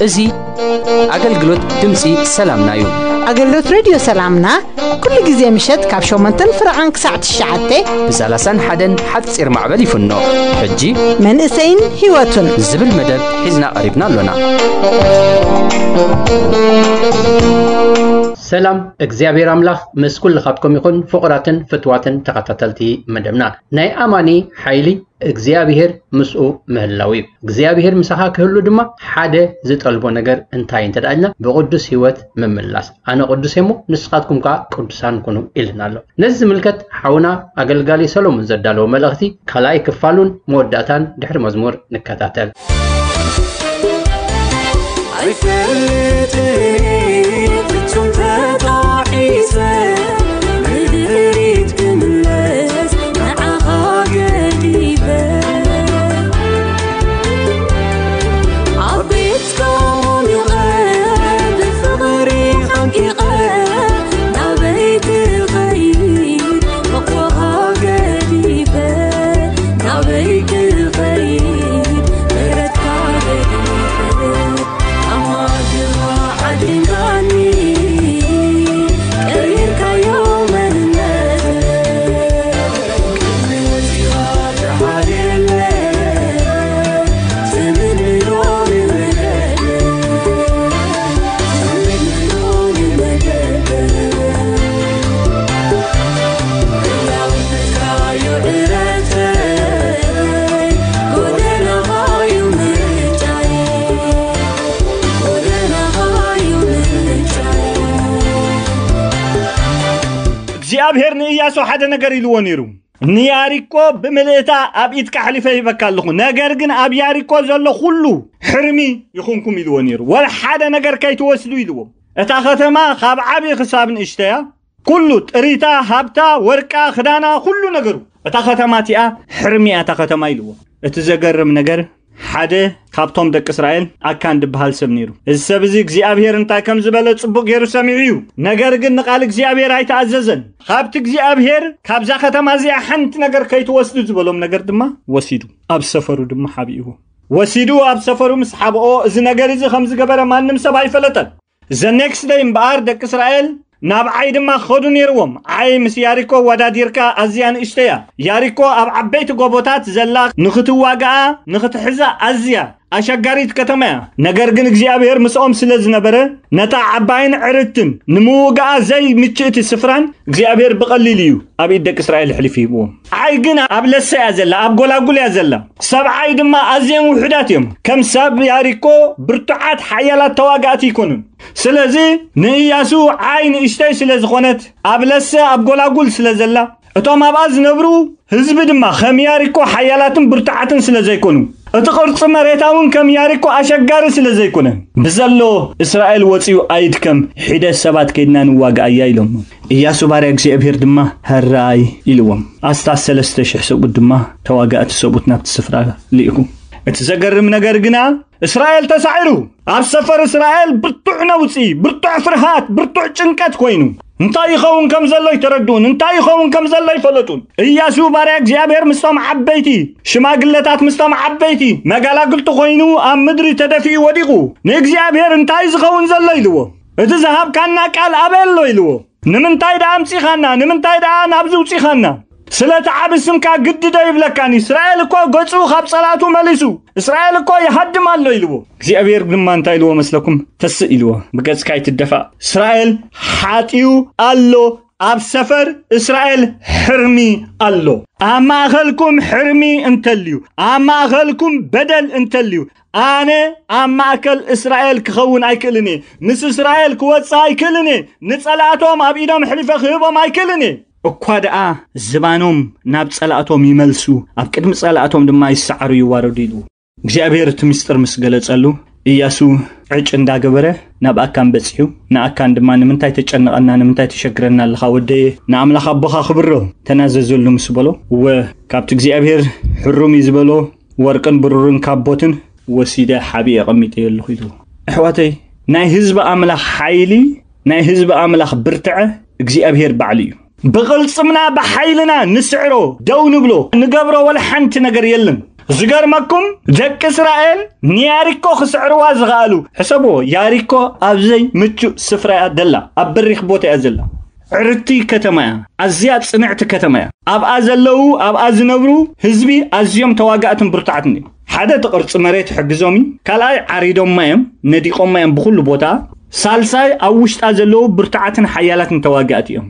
እዚ ኣገልግሎት ድምፂ ሰላምና እዩ። ኣገልግሎት ሬድዮ ሰላምና ኩሉ ግዜ ምሸት ካብ ሸሞንተን ፍርቓን ክሳዕ ትሽዓተ ብ ሰላሳን ሓደን ሓፂር ማዕበል ይፍኖ። ሕጂ መንእሰይን ህይወቱን ዝብል መደብ ሒዝና ቀሪብና ኣሎና። ሰላም እግዚኣብሔር ኣምላኽ ምስ ኩልኻትኩም ይኹን። ፍቑራትን ፍትዋትን ተኸታተልቲ መደብና፣ ናይ ኣማኒ ሓይሊ እግዚኣብሔር ምስኡ ምህላው እዩ። እግዚኣብሔር ምሳኻ ክህሉ ድማ ሓደ ዝጠልቦ ነገር እንታይ እንተ ደኣ ኢልና፣ ብቕዱስ ህይወት ምምላስ። "ኣነ ቅዱስ እየ እሞ ንስኻትኩም ከኣ ቅዱሳን ኩኑ" ኢልና ኣሎ። ነዚ ዝምልከት ሓውና ኣገልጋሊ ሰሎሞን ዘዳለዎ መልእኽቲ ካልኣይ ክፋሉን መወዳእታን ድሕሪ መዝሙር ንከታተል። ኣይፈልጥን ፍጹም ተጣሒሰ ንድሕሪት ክምለስ ንዓኻ ገዲፈ። ኣብ ቤትካ ሙሉቐ ብፍቕሪ ሓንቂቐ ናበይ ክኸይድ ፍቕርኻ ገዲፈ ናበይ ክኸይድ ምሕረትካ ገዲፈ። ኣማድራ ዓዲናኒ ቀይርካዮ መንነት። ቅድሚ ወጺኻ ተሓልየለ፣ ትምንዮ ንመገደ፣ ትምንዮ ንመገደ። ህላውነትካዮ ዕረፍተይ፣ ጎደናኻዩ ምርጫይ። እግዚኣብሔር ንእያሱ ሓደ ነገር ኢልዎ ነይሩ። "ንያሪኮ ብምልእታ ኣብ ኢድካ ኣሕሊፈ ሂበካ ኣለኹ፣ ነገር ግን ኣብ ያሪኮ ዘሎ ኩሉ ሕርሚ ይኹንኩም" ኢልዎ ነይሩ። "ወላ ሓደ ነገር ከይትወስዱ" ኢልዎ። እታ ከተማ ካብ ዓቢ ክሳብ ንእሽተያ፣ ኩሉ ጥሪታ፣ ሃብታ፣ ወርቃ፣ ክዳና፣ ኩሉ ነገሩ፣ እታ ከተማ እቲኣ ሕርሚ እያ እታ ከተማ ኢልዎ። እቲ ዘገርም ነገር፣ ሓደ ካብቶም ደቂ እስራኤል ኣካን ድበሃል ሰብ ነይሩ። እዚ ሰብ እዚ እግዚኣብሔር እንታይ ከም ዝበለ ጽቡቕ ገይሩ ሰሚዑ እዩ። ነገር ግን ንቓል እግዚኣብሔር ኣይተኣዘዘን። ካብቲ እግዚኣብሔር ካብዛ ከተማ እዚኣ ሓንቲ ነገር ከይትወስዱ ዝበሎም ነገር ድማ ወሲዱ፣ ኣብ ሰፈሩ ድማ ሓቢእዎ። ወሲዱ ኣብ ሰፈሩ ምስ ሓብኦ፣ እዚ ነገር እዚ ከም ዝገበረ ማንም ሰብ ኣይፈለጠን። The next day እምበኣር ደቂ እስራኤል ናብ ዓይ ድማ ክኸዱ ነይርዎም። ዓይ ምስ ያሪኮ ወዳዲርካ ኣዝያ ንእሽቶ እያ። ያሪኮ ኣብ ዓበይቲ ጎቦታት ዘላ፣ ንኽትዋግኣ፣ ንኽትሕዛ ኣዝያ ኣሸጋሪት ከተማ እያ። ነገር ግን እግዚኣብሔር ምስኦም ስለ ዝነበረ፣ ነታ ዓባይን ዕርትን ንምውግኣ ዘይምችእቲ ስፍራን እግዚኣብሔር ብቐሊሉ እዩ ኣብ ኢድ ደቂ እስራኤል ኣሕሊፉ ሂብዎም። ዓይ ግን ኣብ ለሰ እያ ዘላ፣ ኣብ ጎላጉል እያ ዘላ። ሰብ ዓይ ድማ ኣዝዮም ውሑዳት እዮም። ከም ሰብ ያሪኮ ብርቱዓት ሓያላት ተዋጋእቲ ኣይኮኑን። ስለዚ ንእያሱ ዓይ ንእሽተይ ስለ ዝኾነት፣ ኣብ ለሰ ኣብ ጎላጉል ስለ ዘላ፣ እቶም ኣብኣ ዝነብሩ ህዝቢ ድማ ከም ያሪኮ ሓያላትን ብርቱዓትን ስለ ዘይኮኑ፣ እቲ ቅርጺ መሬታ እውን ከም ያሪኮ ኣሸጋሪ ስለ ዘይኮነ፣ ብዘሎ እስራኤል ወጺኡ ኣይድከም፣ ሒደት ሰባት ከይድና ንዋግኣያ ኢሎሞ። እያሱ ባርያ እግዚኣብሔር ድማ ሕራይ ኢልዎም። ኣስታት ሰለስተ ሽሕ ሰብኡት ድማ ተዋጋእቲ ሰብኡት ናብቲ ስፍራ ልኢኹ። እቲ ዘገርም ነገር ግና እስራኤል ተሳዒሩ። ኣብ ሰፈር እስራኤል ብርቱዕ ነውጺ፣ ብርቱዕ ፍርሃት፣ ብርቱዕ ጭንቀት ኮይኑ። እንታይ ይኸውን ከም ዘሎ ኣይተረድኡን፣ እንታይ ይኸውን ከም ዘሎ ኣይፈለጡን። እያሱ ባርያ እግዚኣብሔር ምስቶም ዓበይቲ ሽማግለታት፣ ምስቶም ዓበይቲ መጋላግልቲ ኮይኑ ኣብ ምድሪ ተደፊኡ ወዲቑ። ንእግዚኣብሔር እንታይ ዝኸውን ዘሎ ኢልዎ። እቲ ዝሃብካና ቃል ኣበይ ኣሎ ኢልዎ። ንምንታይ ደኣ ኣምጺኻና? ንምንታይ ደኣ ናብዚ ውጺኻና? ስለቲ ዓቢ ስምካ ግዲ ዶ ይብለካን? እስራኤል እኮ ገጹ ካብ ጸላእቱ መሊሱ፣ እስራኤል እኮ ይሃድም ኣሎ ኢልዎ። እግዚኣብሔር ድማ እንታይ ኢልዎ መስለኩም? ተስእ ኢልዎ፣ ብገጽካ ኣይትደፋእ። እስራኤል ሓጢኡ ኣሎ፣ ኣብ ሰፈር እስራኤል ሕርሚ ኣሎ። ኣብ ማእከልኩም ሕርሚ እንተልዩ፣ ኣብ ማእከልኩም በደል እንተልዩ፣ ኣነ ኣብ ማእከል እስራኤል ክኸውን ኣይክእልን እየ። ምስ እስራኤል ክወጽእ ኣይክእልን እየ። ንጸላእቶም ኣብ ኢዶም ኣሕሊፈ ክህቦም ኣይክእልን እየ። እኳ ደኣ ዝባኖም ናብ ጸላእቶም ይመልሱ፣ ኣብ ቅድሚ ጸላእቶም ድማ ይሰዓሩ ይዋረዱ ኢሉ። እግዚኣብሔር እቲ ምስጢር ምስ ገለጸሉ፣ እያሱ ዕጭ እንዳገበረ ናብ ኣካን በጺሑ፣ ንኣካን ድማ "ንምንታይ ተጨንቐና? ንምንታይ ተሸግረና ኣለኻ ወደየ? ንኣምላኽ ኣቦኻ ክብሮ፣ ተናዘዘሉ" ምስ በሎ፣ እወ፣ ካብቲ እግዚኣብሔር ሕሩም እዩ ዝበሎ ወርቅን ብሩርን ካቦትን ወሲደ ሓቢኤ ኣቐሚጠዮ ኣለኹ ኢሉ። ኣሕዋተይ፣ ናይ ህዝቢ ኣምላኽ ሓይሊ፣ ናይ ህዝቢ ኣምላኽ ብርትዐ እግዚኣብሔር ባዕሉ እዩ። ብቕልጽምና ብሓይልና ንስዕሮ፣ ደው ንብሎ፣ ንገብሮ ወላ ሓንቲ ነገር የለን። ዝገርመኩም፣ ደቂ እስራኤል ንያሪኮ ክስዕርዋ ዝኸኣሉ፣ ሕሰብዎ፣ ያሪኮ ኣብ ዘይምቹእ ስፍራ እያ ደላ፣ ኣብ በሪኽ ቦታ እያ ዘላ። ዕርቲ ከተማ እያ፣ ኣዝያ ጽንዕቲ ከተማ እያ። ኣብኣ ዘለዉ፣ ኣብኣ ዝነብሩ ህዝቢ ኣዝዮም ተዋጋእትን ብርቱዓትን እዮም። ሓደ እቲ ቅርጺ መሬት ይሕግዞም እዩ፣ ካልኣይ ዓሪዶማ እዮም፣ ነዲቖማ እዮም ብኹሉ ቦታ፣ ሳልሳይ ኣብ ውሽጣ ዘለዉ ብርቱዓትን ሓያላትን ተዋጋእቲ እዮም።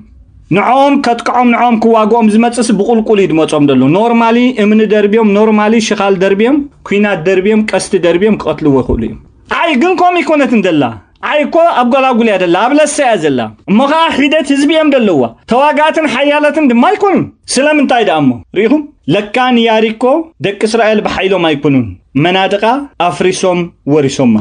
ንዕኦም ከጥቅዖም፣ ንዕኦም ክዋግኦም ዝመጽእስ ብቁልቁል እዩ ዝመጾም ዘሎ። ኖርማሊ እምኒ ደርብዮም፣ ኖርማሊ ሽኻል ደርብዮም፣ ኲናት ደርብዮም፣ ቀስቲ ደርብዮም ክቐትልዎ ይኽእሉ እዮም። ዓይ ግን ከምኡ ይኮነትን ደላ። ዓይ እኮ ኣብ ጎላጉል እያ ደላ፣ ኣብ ለሰ እያ ዘላ። እሞ ኸዓ ሒደት ህዝቢ እዮም ደለዋ። ተዋጋእትን ሓያላትን ድማ ኣይኮኑን። ስለምንታይ ደኣ እሞ? ርኢኹም? ለካ ንያሪኮ ደቂ እስራኤል ብሓይሎም ኣይኮኑን። መናድቓ ኣፍሪሶም ወሪሶማ።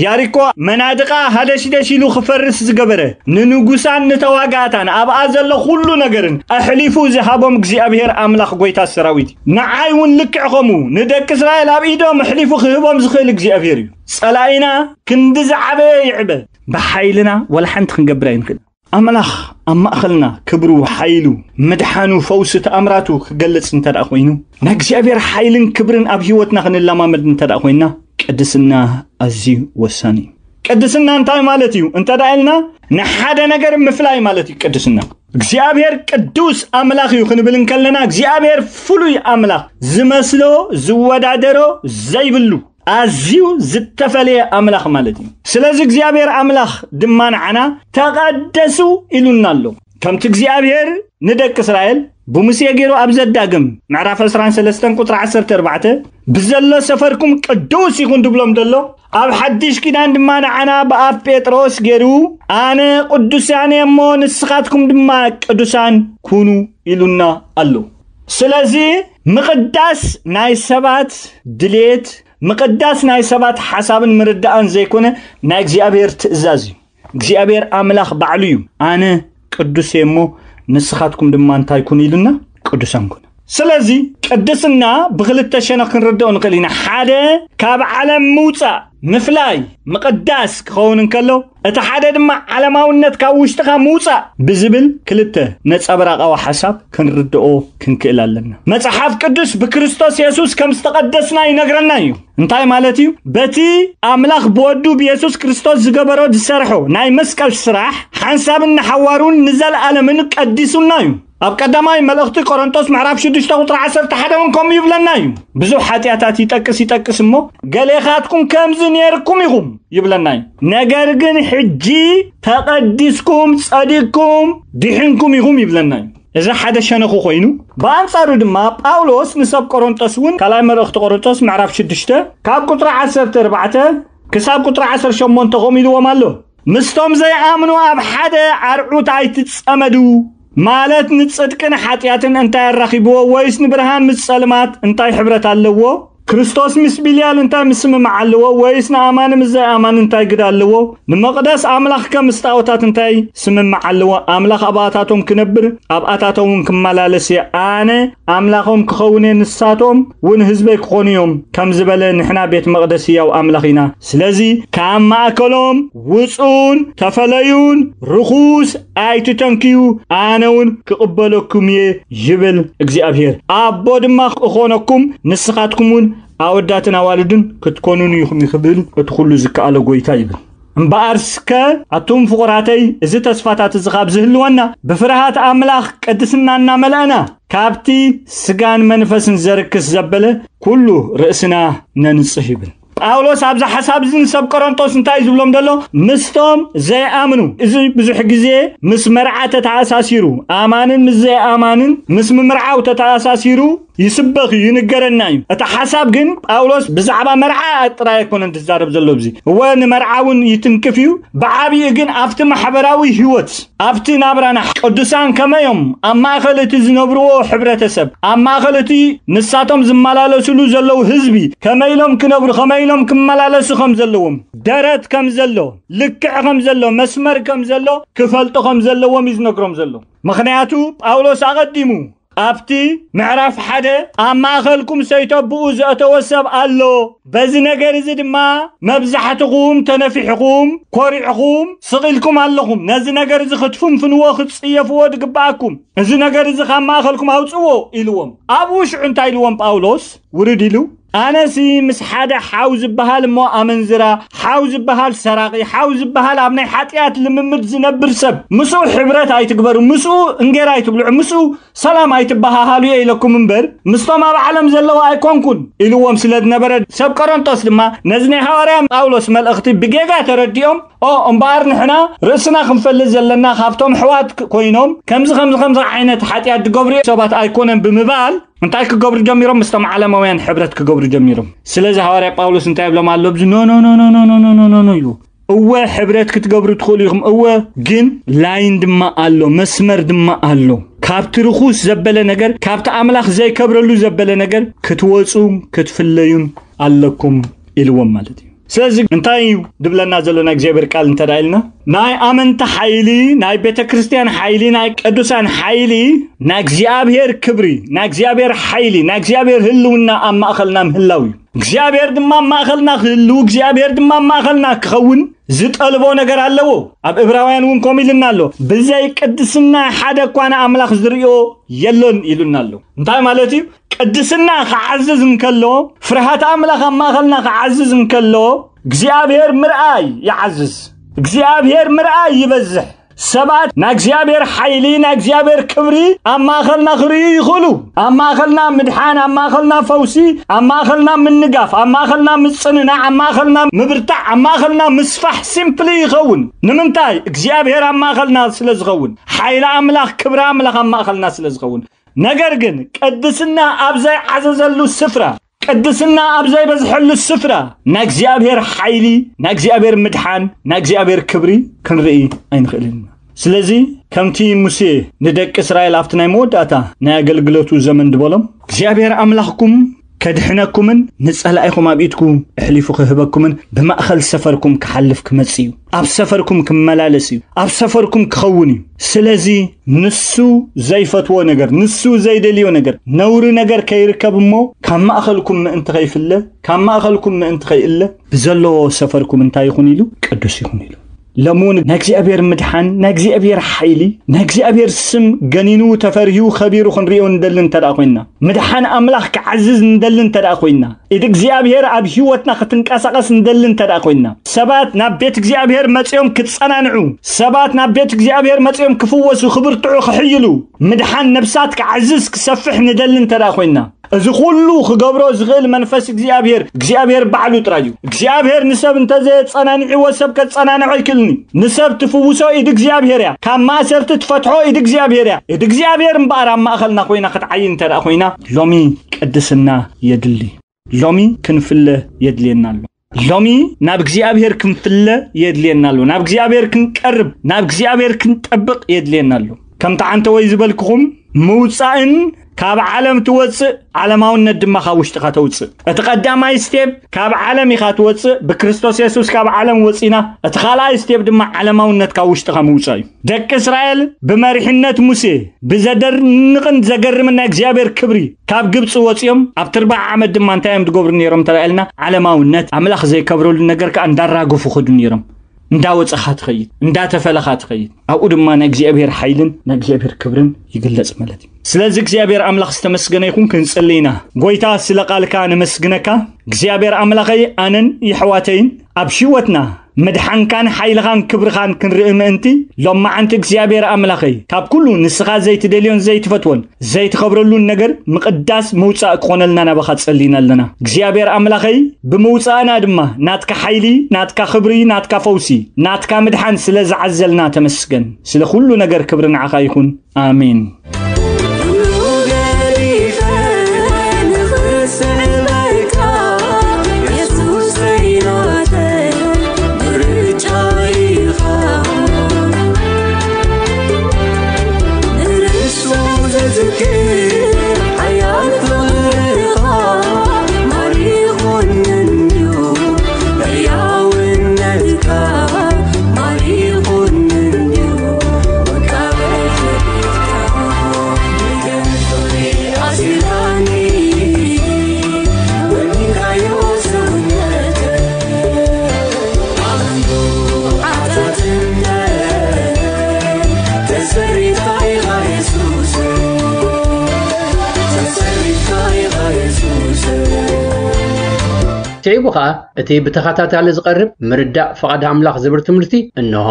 ያሪኮ መናድቓ ሃደሽደሽ ኢሉ ክፈርስ ዝገበረ፣ ንንጉሳን ንተዋጋእታን ኣብኣ ዘሎ ኩሉ ነገርን ኣሕሊፉ ዝሃቦም እግዚኣብሔር ኣምላኽ ጎይታ ሰራዊት እዩ። ንዓይ እውን ልክዕ ከምኡ ንደቂ እስራኤል ኣብ ኢዶም ኣሕሊፉ ክህቦም ዝኽእል እግዚኣብሔር እዩ። ጸላኢና ክንዲ ዝዓበየ ይዕበ፣ ብሓይልና ወላ ሓንቲ ክንገብር ኣይንኽእል። ኣምላኽ ኣብ ማእኸልና ክብሩ፣ ሓይሉ፣ ምድሓኑ፣ ፈውሲ፣ ተኣምራቱ ክገልጽ እንተ ደኣ ኮይኑ፣ ናይ እግዚኣብሔር ሓይልን ክብርን ኣብ ህይወትና ክንለማመድ እንተ ደኣ ኮይንና፣ ቅድስና ኣዝዩ ወሳኒ እዩ። ቅድስና እንታይ ማለት እዩ እንተ ደኣ ኢልና፣ ንሓደ ነገር ምፍላይ ማለት እዩ ቅድስና። እግዚኣብሔር ቅዱስ ኣምላኽ እዩ ክንብል እንከለና፣ እግዚኣብሔር ፍሉይ ኣምላኽ፣ ዝመስሎ ዝወዳደሮ ዘይብሉ፣ ኣዝዩ ዝተፈለየ ኣምላኽ ማለት እዩ። ስለዚ እግዚኣብሔር ኣምላኽ ድማ ንዓና ተቐደሱ ኢሉና ኣሎ። ከምቲ እግዚኣብሔር ንደቂ እስራኤል ብሙሴ ገይሩ ኣብ ዘዳግም ምዕራፍ ዕስራን ሰለስተን ቁጽሪ ዓሰርተ ኣርባዕተ፣ ብዘሎ ሰፈርኩም ቅዱስ ይኹን ድብሎም ዘሎ፣ ኣብ ሓድሽ ኪዳን ድማ ንዓና ብኣብ ጴጥሮስ ገይሩ፣ ኣነ ቅዱሳን እየ እሞ ንስኻትኩም ድማ ቅዱሳን ኩኑ ኢሉና ኣሎ። ስለዚ ምቕዳስ ናይ ሰባት ድሌት፣ ምቕዳስ ናይ ሰባት ሓሳብን ምርዳእን ዘይኮነ፣ ናይ እግዚኣብሔር ትእዛዝ እዩ። እግዚኣብሔር ኣምላኽ ባዕሉ እዩ፣ ኣነ ቅዱስ እየ እሞ ንስኻትኩም ድማ እንታይ ኩኑ ኢሉና? ቅዱሳን ኩኑ። ስለዚ ቅድስና ብኽልተ ሸነኽ ክንርድኦ ንኽእል ኢና። ሓደ፣ ካብ ዓለም ምውጻእ፣ ምፍላይ፣ ምቕዳስ ክኸውን እንከሎ፣ እቲ ሓደ ድማ ዓለማውነት ካብ ውሽጥኻ ምውጻእ ብዝብል ክልተ ነጸብራቓዊ ሓሳብ ክንርድኦ ክንክእል ኣለና። መጽሓፍ ቅዱስ ብክርስቶስ የሱስ ከም ዝተቐደስና ይነግረና እዩ። እንታይ ማለት እዩ? በቲ ኣምላኽ ብወዱ ብየሱስ ክርስቶስ ዝገበሮ ዝሰርሖ ናይ መስቀል ስራሕ ሓንሳብን ንሓዋሩን ንዘለኣለምን ቀዲሱና እዩ። ኣብ ቀዳማይ መልእኽቲ ቆሮንቶስ ምዕራፍ ሽዱሽተ ቁጽሪ ዓሰርተ ሓደ እውን ከምኡ ይብለና እዩ። ብዙሕ ሓጢኣታት ይጠቅስ ይጠቅስ እሞ፣ ገሌኻትኩም ከምዚ ነይርኩም ኢኹም ይብለና እዩ። ነገር ግን ሕጂ ተቐዲስኩም፣ ጸዲቅኩም፣ ድሒንኩም ኢኹም ይብለና እዩ። እዚ ሓደ ሸነኹ ኮይኑ፣ ብኣንጻሩ ድማ ጳውሎስ ንሰብ ቆሮንቶስ እውን ካልኣይ መልእኽቲ ቆሮንቶስ ምዕራፍ ሽዱሽተ ካብ ቁጽሪ ዓሰርተ ኣርባዕተ ክሳብ ቁጽሪ ዓሰርተ ሸሞንተ ከምኡ ኢልዎም ኣሎ። ምስቶም ዘይኣምኑ ኣብ ሓደ ኣርዑት ኣይትጸመዱ፣ ማለት ንጽድቅን ሓጢኣትን እንታይ ኣራኺብዎ? ወይስ ንብርሃን ምስ ጸልማት እንታይ ሕብረት ኣለዎ? ክርስቶስ ምስ ቢልያል እንታይ ምስምማዕ ኣለዎ? ወይስ ንኣማኒ ምስ ዘይኣማኒ እንታይ ግዳ ኣለዎ? ንመቕደስ ኣምላኽ ከም ምስ ጣዖታት እንታይ ስምምዕ ኣለዎ? ኣምላኽ ኣብኣታቶም ክነብር፣ ኣብኣታቶም እውን ክመላለስ እየ። ኣነ ኣምላኾም ክኸውን እየ፣ ንሳቶም እውን ህዝበይ ክኾኑ እዮም፣ ከም ዝበለ፣ ንሕና ቤት መቕደስ ህያው ኣምላኽ ኢና። ስለዚ ካብ ማእከሎም ውጹን ተፈለዩን፣ ርኹስ ኣይትተንክዩ፣ ኣነ እውን ክቕበለኩም እየ ይብል እግዚኣብሔር። ኣቦ ድማ እኾነኩም፣ ንስኻትኩም እውን ኣወዳትን ኣዋልድን ክትኮኑን ኢኹም ይኽብል እቲ ኩሉ ዝከኣሎ ጎይታ ይብል። እምበኣር እስከ ኣቱም ፍቑራተይ፣ እዚ ተስፋታት እዚ ካብ ዝህልወና፣ ብፍርሃት ኣምላኽ ቅድስና እናመልአና፣ ካብቲ ስጋን መንፈስን ዘርክስ ዘበለ ኩሉ ርእስና ነንጽህ ይብል። ጳውሎስ ኣብዚ ሓሳብ እዚ ንሰብ ቆሮንቶስ እንታይ እዩ ዝብሎም ዘሎ? ምስቶም ዘይኣምኑ፣ እዚ ብዙሕ ግዜ ምስ መርዓ ተተኣሳሲሩ፣ ኣማንን ምስ ዘይኣማንን ምስ ምምርዓው ተተኣሳሲሩ ይስበኽ እዩ፣ ይንገረና እዩ። እቲ ሓሳብ ግን ጳውሎስ ብዛዕባ መርዓ ጥራይ ኣይኮነን ዝዛረብ ዘሎ ኣብዚ። እወ ንመርዓ እውን ይትንክፍ እዩ፣ ብዓብዩ ግን ኣብቲ ማሕበራዊ ህይወት፣ ኣብቲ ናብራና ቅዱሳን ከመዮም ኣብ ማእከል እቲ ዝነብርዎ ሕብረተሰብ፣ ኣብ ማእከል እቲ ንሳቶም ዝመላለስሉ ዘለዉ ህዝቢ ከመይ ኢሎም ክነብሩ፣ ከመይ ኢሎም ክመላለሱ ከም ዘለዎም፣ ደረት ከም ዘሎ፣ ልክዕ ከም ዘሎ፣ መስመር ከም ዘሎ ክፈልጡ ከም ዘለዎም እዩ ዝነግሮም ዘሎ። ምኽንያቱ ጳውሎስ ኣቐዲሙ ኣብቲ ምዕራፍ ሓደ ኣብ ማእኸልኩም ሰይተብኡ ዘእተወ ሰብ ኣሎ። በዚ ነገር እዚ ድማ መብዛሕትኹም ተነፊሕኹም፣ ኮሪዕኹም፣ ስቕ ኢልኩም ኣለኹም። ነዚ ነገር እዚ ክትፍንፍንዎ፣ ክትጽየፍዎ ድግብኣኩም። እዚ ነገር እዚ ካብ ማእኸልኩም ኣውጽዎ ኢልዎም። ኣብኡ ሽዑ እንታይ ኢልዎም ጳውሎስ? ውርድ ኢሉ፣ ኣነሲ ምስ ሓደ ሓው ዝበሃል እሞ ኣመንዝራ፣ ሓው ዝበሃል ሰራቒ፣ ሓው ዝበሃል ኣብ ናይ ሓጢኣት ልምምድ ዝነብር ሰብ፣ ምስኡ ሕብረት ኣይትግበሩ፣ ምስኡ እንጌራ ኣይትብልዑ፣ ምስኡ ሰላም ኣይትበሃሃሉ እየ ኢለኩም እምበር፣ ምስቶም ኣብ ዓለም ዘለዉ ኣይኮንኩን ኢልዎም ስለ ዝነበረ፣ ሰብ ቆሮንቶስ ድማ ነዚ ናይ ሃዋርያ ጳውሎስ መልእኽቲ ብጌጋ ተረዲኦም፣ ኦ እምበኣር ንሕና ርእስና ክንፈልጥ ዘለና ካብቶም ኣሕዋት ክ- ኮይኖም ከምዚ ከምዚ ከምዚ ዓይነት ሓጢኣት ዝገብሩ ሰባት ኣይኮነን ብምባል እንታይ ክገብሩ ጀሚሮም? ምስቶም ዓለማውያን ሕብረት ክገብሩ ጀሚሮም። ስለዚ ሃዋርያ ጳውሎስ እንታይ ይብሎም ኣሎ? ኣብዚ ኖ ኖ ኖ ኖ ኖ ኖ ኖ ኖ ኖ እዩ። እወ ሕብረት ክትገብሩ ትኽእሉ ኢኹም፣ እወ ግን ላይን ድማ ኣሎ፣ መስመር ድማ ኣሎ። ካብቲ ርኹስ ዘበለ ነገር፣ ካብቲ ኣምላኽ ዘይከብረሉ ዘበለ ነገር ክትወፁ ክትፍለዩን ኣለኩም ኢልዎም ማለት እዩ። ስለዚ እንታይ እዩ ድብለና ዘሎ ናይ እግዚኣብሔር ቃል እንተ ደኣ ኢልና፣ ናይ ኣመንቲ ሓይሊ፣ ናይ ቤተ ክርስቲያን ሓይሊ፣ ናይ ቅዱሳን ሓይሊ፣ ናይ እግዚኣብሔር ክብሪ፣ ናይ እግዚኣብሔር ሓይሊ፣ ናይ እግዚኣብሔር ህልውና ኣብ ማእኸልና ምህላው እዩ። እግዚኣብሔር ድማ ኣብ ማእኸልና ክህሉ፣ እግዚኣብሔር ድማ ኣብ ማእኸልና ክኸውን ዝጠልቦ ነገር ኣለዎ። ኣብ እብራውያን እውን ከምኡ ኢልና ኣሎ፣ ብዘይ ቅድስና ሓደ እኳ ንኣምላኽ ዝርእዮ የሎን ኢሉና ኣሎ። እንታይ ማለት እዩ? ቅድስና ክዓዝዝ እንከሎ፣ ፍርሃት ኣምላኽ ኣብ ማእኸልና ክዓዝዝ እንከሎ፣ እግዚኣብሔር ምርኣይ ይዓዝዝ። እግዚኣብሔር ምርኣይ ይበዝሕ። ሰባት ናይ እግዚኣብሔር ሓይሊ፣ ናይ እግዚኣብሔር ክብሪ ኣብ ማእኸልና ክርእዩ ይኽእሉ። ኣብ ማእኸልና ምድሓን፣ ኣብ ማእኸልና ፈውሲ፣ ኣብ ማእኸልና ምንጋፍ፣ ኣብ ማእኸልና ምጽንናዕ፣ ኣብ ማእኸልና ምብርታዕ፣ ኣብ ማእኸልና ምስፋሕ ሲምፕሊ ይኸውን። ንምንታይ? እግዚኣብሔር ኣብ ማእኸልና ስለ ዝኸውን፣ ሓይሊ ኣምላኽ፣ ክብሪ ኣምላኽ ኣብ ማእኸልና ስለ ዝኸውን። ነገር ግን ቅድስና ኣብ ዘይዓዘዘሉ ስፍራ፣ ቅድስና ኣብ ዘይበዝሐሉ ስፍራ ናይ እግዚኣብሔር ሓይሊ፣ ናይ እግዚኣብሔር ምድሓን፣ ናይ እግዚኣብሔር ክብሪ ክንርኢ ኣይንኽእልን ኢና። ስለዚ ከምቲ ሙሴ ንደቂ እስራኤል ኣብቲ ናይ መወዳእታ ናይ ኣገልግሎቱ ዘመን ዝበሎም እግዚኣብሔር ኣምላኽኩም ከድሕነኩምን ንጸላኢኹም ኣብ ኢድኩም ኣሕሊፉ ክህበኩምን ብማእኸል ሰፈርኩም ክሓልፍ ክመጽእ እዩ። ኣብ ሰፈርኩም ክመላለስ እዩ። ኣብ ሰፈርኩም ክኸውን እዩ። ስለዚ ንሱ ዘይፈትዎ ነገር፣ ንሱ ዘይደልዮ ነገር፣ ነውሪ ነገር ከይርከብ እሞ ካብ ማእኸልኩም ምእንቲ ከይፍለ፣ ካብ ማእኸልኩም ምእንቲ ከይእለ ብዘለዎ ሰፈርኩም እንታይ ይኹን ኢሉ ቅዱስ ይኹን ኢሉ። ሎሚ እውን ናይ እግዚኣብሔር ምድሓን፣ ናይ እግዚኣብሔር ሓይሊ፣ ናይ እግዚኣብሔር ስም ገኒኑ ተፈርሂዩ ከቢሩ ክንሪኦ ንደሊ እንተ ደኣ ኮይንና፣ ምድሓን ኣምላኽ ክዓዝዝ ንደሊ እንተ ደኣ ኮይንና፣ ኢድ እግዚኣብሔር ኣብ ህይወትና ክትንቀሳቐስ ንደሊ እንተ ደኣ ኮይንና፣ ሰባት ናብ ቤት እግዚኣብሔር መጺኦም ክጸናንዑ፣ ሰባት ናብ ቤት እግዚኣብሔር መጺኦም ክፍወሱ፣ ክብርትዑ፣ ክሕይሉ፣ ምድሓን ነብሳት ክዓዝዝ ክሰፍሕ ንደሊ እንተ ደኣ ኮይንና፣ እዚ ኩሉ ክገብሮ ዝኽእል መንፈስ እግዚኣብሔር፣ እግዚኣብሔር ባዕሉ ጥራይ እዩ። እግዚኣብሔር ንሰብ እንተዘየጸናንዕዎ ሰብ ከጸናንዖ ኣይክእልን እዩ። ንሰብ ትፍውሶ ኢድ እግዚኣብሔር እያ። ካብ ማእሰርቲ ትፈትሖ ኢድ እግዚኣብሔር እያ። ኢድ እግዚኣብሔር እምበኣር ኣብ ማእኸልና ኮይና ክትዓይ እንተ ደኣ ኮይና፣ ሎሚ ቅድስና የድሊ። ሎሚ ክንፍለ የድልየና ኣሎ። ሎሚ ናብ እግዚኣብሔር ክንፍለ የድልየና ኣሎ። ናብ እግዚኣብሔር ክንቀርብ፣ ናብ እግዚኣብሔር ክንጠብቕ የድልየና ኣሎ። ከምቲ ዓንተወይ ዝበልክኹም፣ ምውጻእን ካብ ዓለም ትወጽእ፣ ዓለማውነት ድማ ካብ ውሽጥኻ ተውጽእ። እቲ ቀዳማይ ስቴፕ ካብ ዓለም ኢኻ ትወጽእ፣ ብክርስቶስ የሱስ ካብ ዓለም ወጺና። እቲ ካልኣይ ስቴፕ ድማ ዓለማውነት ካብ ውሽጥኻ ምውጻእ እዩ። ደቂ እስራኤል ብመሪሕነት ሙሴ ብዘደንቕን ዘገርምን ናይ እግዚኣብሔር ክብሪ ካብ ግብጺ ወጺኦም፣ ኣብ ትርባዕ ዓመት ድማ እንታይ እዮም ዝገብሩ ነይሮም እንተ ኢልና፣ ዓለማውነት፣ ኣምላኽ ዘይከብረሉ ነገር ከኣ እንዳራገፉ ኸዱ ነይሮም። እንዳወጸኻ ትኸይድ፣ እንዳተፈለኻ ትኸይድ። ኣብኡ ድማ ናይ እግዚኣብሔር ሓይልን ናይ እግዚኣብሔር ክብርን ይግለጽ ማለት እዩ። ስለዚ እግዚኣብሔር ኣምላኽ ዝተመስገነ ይኹን። ክንጽሊ ኢና። ጎይታ፣ ስለ ቃልካ ነመስግነካ። እግዚኣብሔር ኣምላኸይ፣ ኣነን የሕዋተይን ኣብ ህይወትና ምድሓንካን ሓይልኻን ክብርኻን ክንርኢ ምእንቲ፣ ሎማዓንቲ እግዚኣብሔር ኣምላኸይ፣ ካብ ኩሉ ንስኻ ዘይትደልዮን ዘይትፈትዎን ዘይትኸብረሉን ነገር ምቕዳስ ምውጻእ ክኾነልና ናባኻ ጸሊና ኣለና። እግዚኣብሔር ኣምላኸይ፣ ብምውጻእና ድማ ናትካ ሓይሊ፣ ናትካ ክብሪ፣ ናትካ ፈውሲ፣ ናትካ ምድሓን ስለ ዝዓዘልና ተመስገን። ስለ ኩሉ ነገር ክብሪ ንዓኻ ይኹን። ኣሜን። ኩሉ ገዲፈ ንኽስዕበካ የሱሰይ ናተይ ምርጫ ኢኻ። ንርሱ ዘዝክር ሓያል ፍቕርኻ ማሪኹኒ እዩ፣ ሕያውነትካ ማሪኹኒ እዩ፣ ወቃበት ሽዑ ከኣ እቲ ብተኸታታሊ ዝቐርብ ምርዳእ ፍቓድ ኣምላኽ ዝብል ትምህርቲ እንሆ።